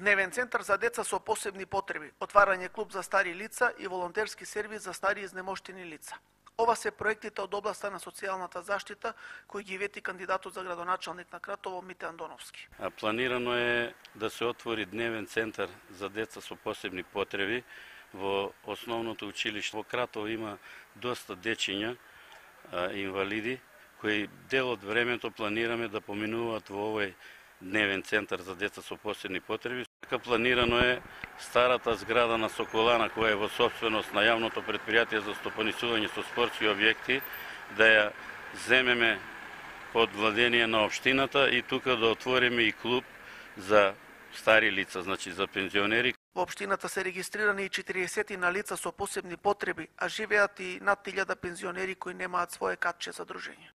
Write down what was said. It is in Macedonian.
Дневен центар за деца со посебни потреби, отварање клуб за стари лица и волонтерски сервис за стари изнемоштени лица. Ова се проектите од областа на социјалната заштита кои ги вети кандидатот за градоначалник на Кратово Мите Андоновски. Планирано е да се отвори дневен центар за деца со посебни потреби во основното училиште. Во Кратово има доста дечиња инвалиди кои дел од времето планираме да поминуваат во овој дневен центар за деца со посебни потреби. Планирано е старата зграда на Соколана, која е во собственост на јавното предпријатие за стопанисување со спортски објекти, да ја земеме под владение на општината и тука да отвориме и клуб за стари лица, значи за пензионери. Во општината се регистрирани и 40 на лица со посебни потреби, а живеат и над 1000 пензионери кои немаат свое катче за дружење.